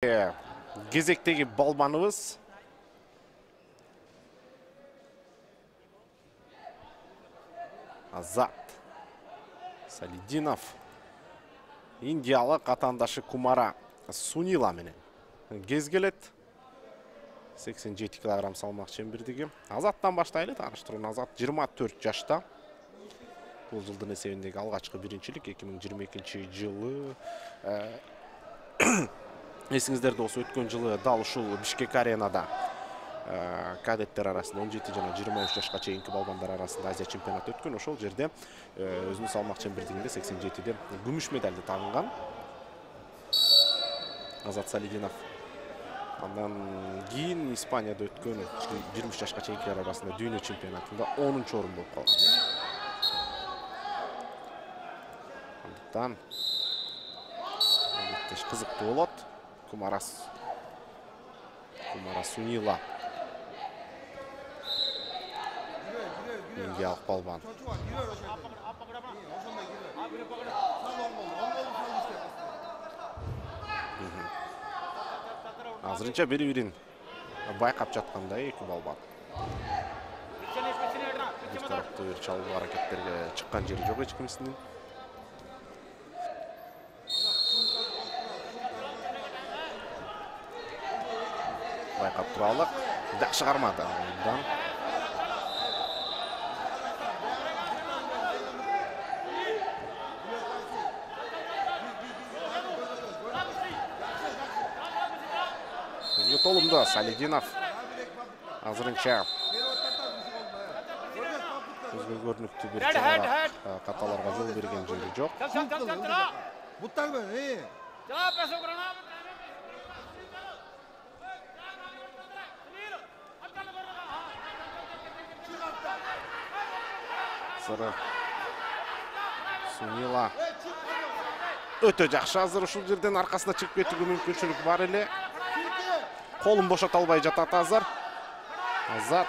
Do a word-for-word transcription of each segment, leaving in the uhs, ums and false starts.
Кезектеги балбаныбыз Азат Салидинов индиялык атандашы Кумара Сунила менен кез келет. сексен жети килограмм салмак чембирдиги. Азаттан баштайлы. Тааныштыруу Азат жыйырма төрт жашта. Бул жылдын эсебиндеги алгачкы биринчилик эки миң жыйырма экинчи жылы. Эсиңиздерде болсо өткөн жылы дал ушул Бишкек аренада кадеттер арасында он жети жана жыйырма үч жашка чейинки балбандар арасында Азия чемпионаты өткөн. Ошол жерде өзүнүн салмак чембирдигинде сексен жетиде күмүш медалды тагынган. Азат Салидинов. Андан кийин Испанияда өткөн жыйырма үч жашка чейинкилер арасында дүйнө чемпионатында онунчу орун болуп калган. Андыктан кызыктуу болот. Кумарас Кумара Сунила индиялык балбан. Азырынча бири-бирин байкап жаткандай эки балбан. Бир тараптуу бир чалуу аракеттерге чыккан жери жок эч кимисинин. Байкап туралык. Жакшы кармады. Андан толумда Салидинов азырынча көзгө көрүнүктүү бир чара каталарга жол берген жери жок. Сыры Сунила өтө жакшы азыр ушул жерден аркасына чыгып кетүүгө мүмкүнчүлүк бар эле. Колун бошото албай жатат азыр. Азат.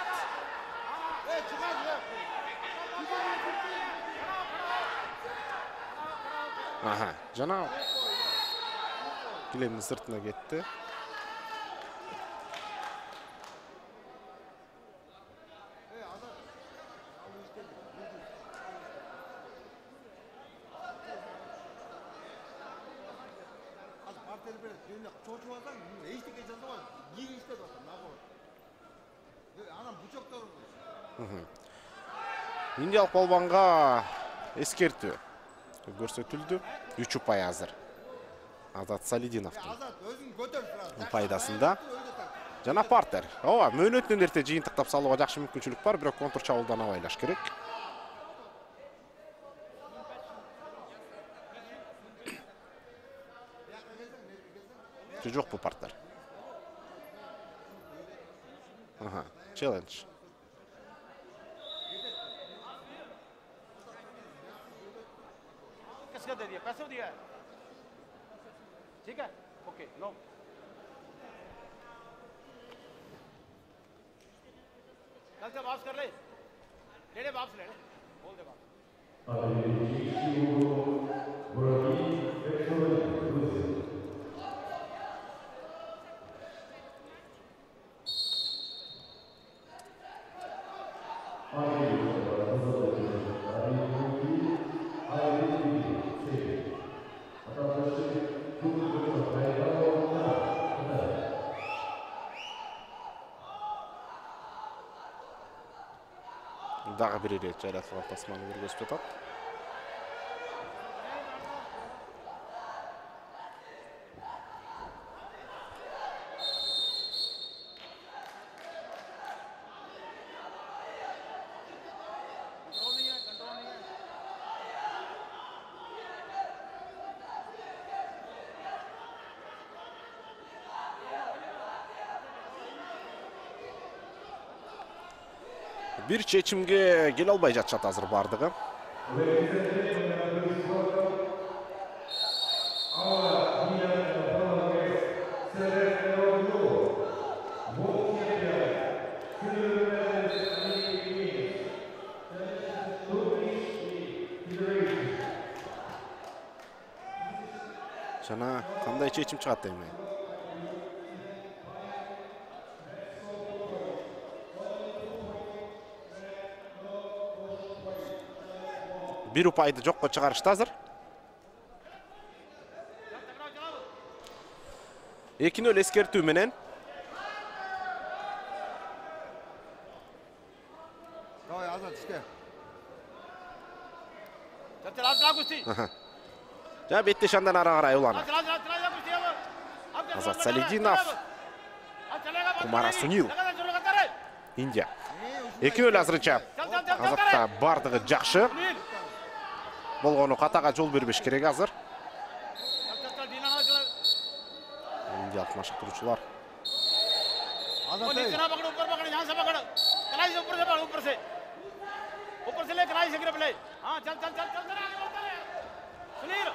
Аха, жана килемдин сыртына кетти. Индиялык балбанга эскертүү көрсөтүлдү. үч упай азыр Азат Салидиновдун пайдасында. Жана партер. Ооба, мөөнөтүнөн эрте жыйынтыктап салууга жакшы мүмкүнчүлүк бар, бирок контур чабуулдан абайлаш керек. Жок бу партер. Ага, челлендж. किसका दे दिया? पैसे दिया है? ठीक है? Okay, no. कल से वापस कर ले। ले ले वापस ले ले। बोल दे वापस। Дагы бир ирет жайратылган тасманы көргөзүп жатат. Bir чечимге келе албай жатышат азыр бардыгы. Жана кандай чечим чыгат эми? бир упайды жокко чыгарышты азыр. эки нөл эскертүү менен. Давай, Азат, иште. Жана беттешандан ара карай уланат. Азат Салидинов. Кумара Сунил. Индия. эки нөл азырынча. Азатта бардыгы жакшы. Болгону катага жол бербеш керек азыр. Индиялык машыктыруучулар. Азат, ऊपर से ले कराई से गिर प्ले हां चल चल चल चल सुनील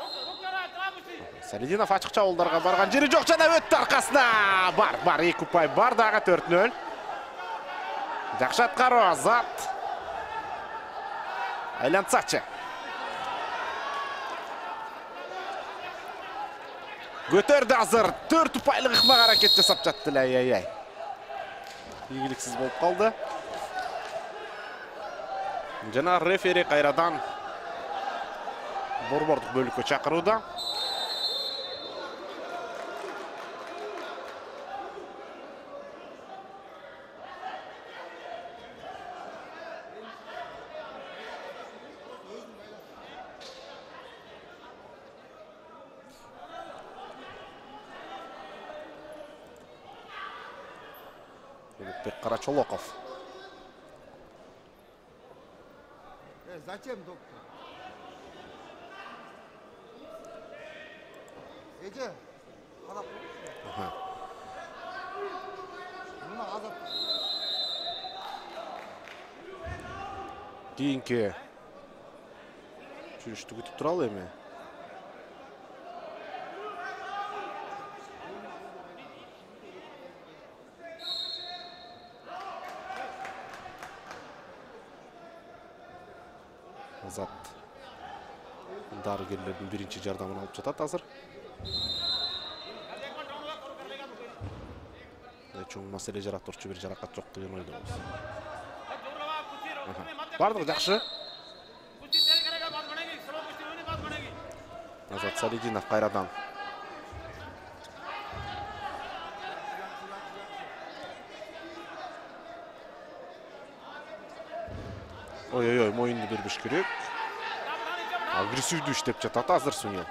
रुक रुक जा रहा है Салидинов ачыкча олдарга барган жери жок жана өттү аркасына. Бар, бар, эки упай бар дагы төрт нөл. Жакшы аткаруу Азат. Айлантсачы. Көтөрдү азыр. төрт упайлык ыкмак аракет жасап жатты. Ай-ай-ай. Ийгиликсиз болуп калды. Жана рефери кайрадан борбордук бөлүккө чакырууда. Улукбек Карачолоков. Зачем, доктор? Эже, карап Ага. мына Азат. Кийинки жүрүштү күтүп туралы эми. Азат дарыгерлердин биринчи жардамын алып жатат азыр. Чоң маселе жаратурчу бир жаракат жок деген ойдобуз. Бардыгы жакшы. Азат Салидинов кайрадан. Ой-ой-ой, моюнду бербеш керек. Агрессивдүү иштеп жатат азыр Сунил.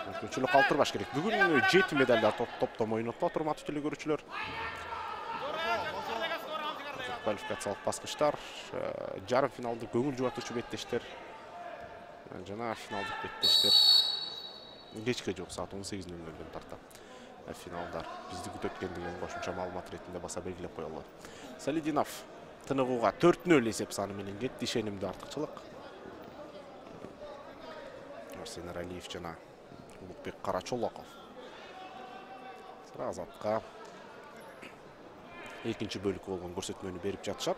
Мүмкүнчүлүк калтырбаш керек. Бүгүн жети медалдар топтом ойнотуп отур матч телекөрүүчүлөр. Квалификациялык баскычтар, жарым финалдык көңүл жубатуучу беттештер жана финалдык беттештер кечке жок саат он сегиз нөл нөлдөн тарта. Финалдар бизди күтөт экен деген кошумча маалымат иретинде баса белгилеп коелу. Салидинов тыныгууга төрт нөл эсеп саны менен кетти, ишенимдүү артыкчылык. Арсен Алиев жана Улукбек Карачолоков. Азатка экинчи бөлүккө болгон көрсөтмөнү берип жатышат.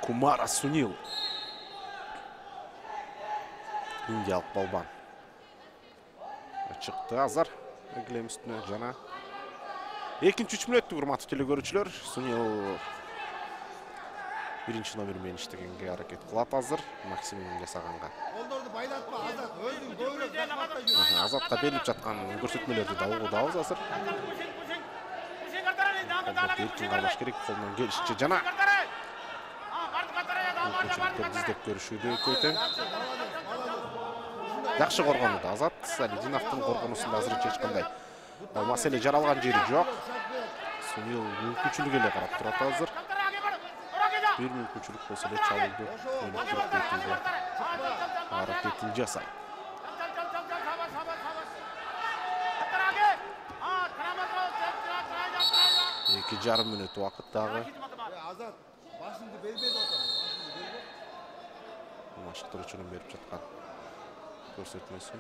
Кумара Сунил. Индиялык балбан. Чыкты азыр эглем үстүнө жана экинчи үч мүнөттүк урматтуу телекөрүүчүлөр. Сунил биринчи номер менен иштегенге аракет кылат азыр максимум жасаганга. Колдорду байлатпа, Азат, өзүң көбүрөөк жакпатта жүр. Азатта берилип жаткан көрсөтмөлөрдү да угудабыз азыр. Эркин кармаш керек, колунан келишинче жана мүмкүнчүлүктөрдү издеп көрүшүүдө экөө тең. Жакшы коргонду Азат. Салидиновдун коргонусунда азырынча эч кандай маселе жаралган жери жок. Сунил мүмкүнчүлүк эле карап турат азыр. Бир мүмкүнчүлүк болсо эле чалууду аракетин жасайт. эки жарым мүнөт убакыт дагы. Азат, башыңды бербей отур. Машыктыруучунун берип жаткан көрсөтмөсү.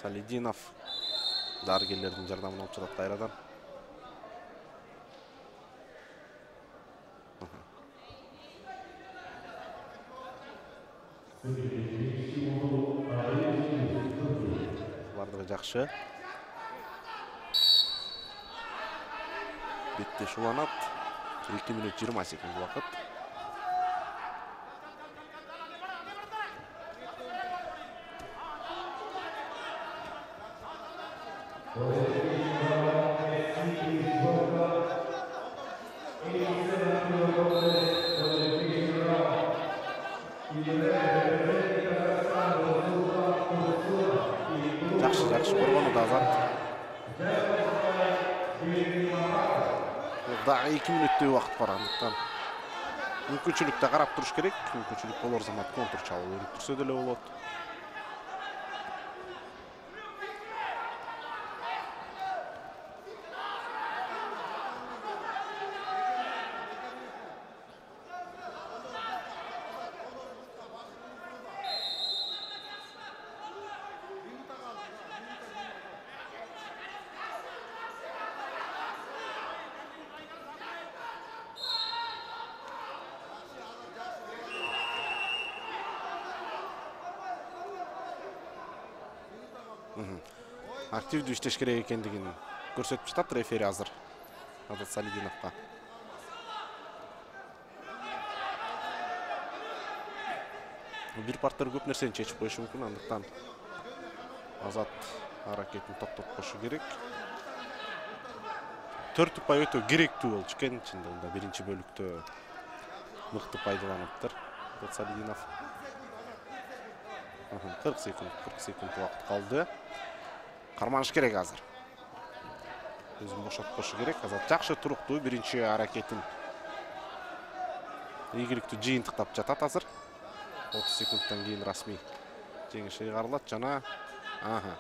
Салидинов дарыгерлердин жардамын алып жатат кайрадан. Бардыгы жакшы. Бетте шуланат. эки мүнөт жыйырма секунд убакыт. Жакшы, жакшы коргону да Азат. Дагы эки мүнөттөй убакыт бар, андыктан мүмкүнчүлүктө карап туруш керек. Мүмкүнчүлүк болор замат контур чабуу өрүп турса деле болот. Активдүү иштеш керек экендигин көрсөтүп жатат рефери азыр Азат Салидиновго. Бир партер көп нерсени чечип коюшу мүмкүн, андыктан Азат аракетин токтоткошу керек. төрт упай өтө керектүү болчу экен, чындыгында биринчи бөлүктө мыкты пайдаланыптыр Азат Салидинов. кырк секунд, кырк секунд убакыт калды. Карманыш керек азыр. Өзүн бошоткошу керек. Азат жакшы туруктуу биринчи аракетин ийгиликтүү жыйынтыктап жатат азыр. отуз секундтан кийин расмий жеңиш ыйгарылат жана аха.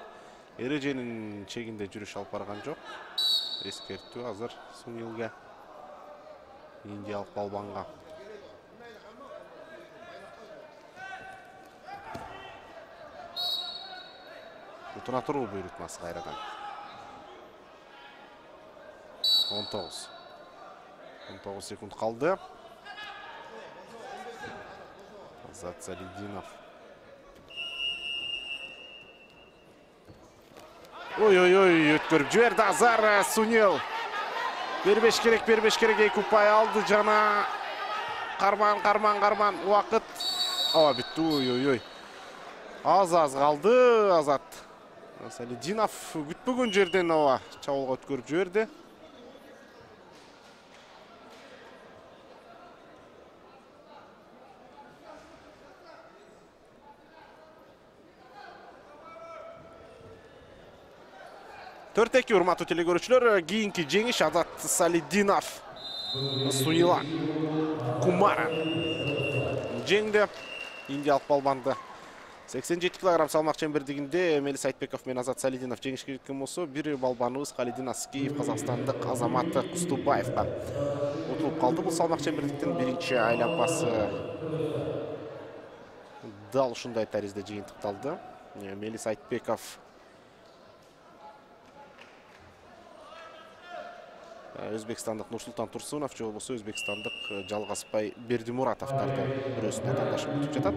Эреженин чегинде жүрүш алып барган жок. Эскертүү азыр Сунилге, индиялык балбанга. Утуна туруу буйрутмасы кайрадан. он тогуз. он тогуз секунд калды. Азат Салидинов. Ой-ой-ой, өткөрүп жиберди Азар Сунил. Бербеш керек, бербеш керек, эки упай алды жана карман, карман, карман. Убакыт. Ооба бүтү. Ой-ой-ой. Аз-аз калды Азат Салидинов күтпөгөн жерден ооба чабуулга өткөрүп жиберди. төрт эки урматтуу телекөрүүчүлөр, кийинки жеңиш Азат Салидинов Сунила Кумара жеңди. Индиялык балбанды сексен жети килограмм салмак чембердигинде Эмели Сайтбеков менен Азат Салидинов жеңишке жеткен болсо, бир балбаныбыз Халидин Аскиев казакстандык Азамат Кустубаевга утулуп калды. Бул салмак чембердиктин биринчи айланпасы дал ушундай таризде жыйынтыкталды. Эмели Сайтбеков өзбекстандык Нурсултан Турсунов же болбосо өзбекстандык Жалгазбай Бердимуратовдорду бирөөсүн атаандашы күтүп жатат.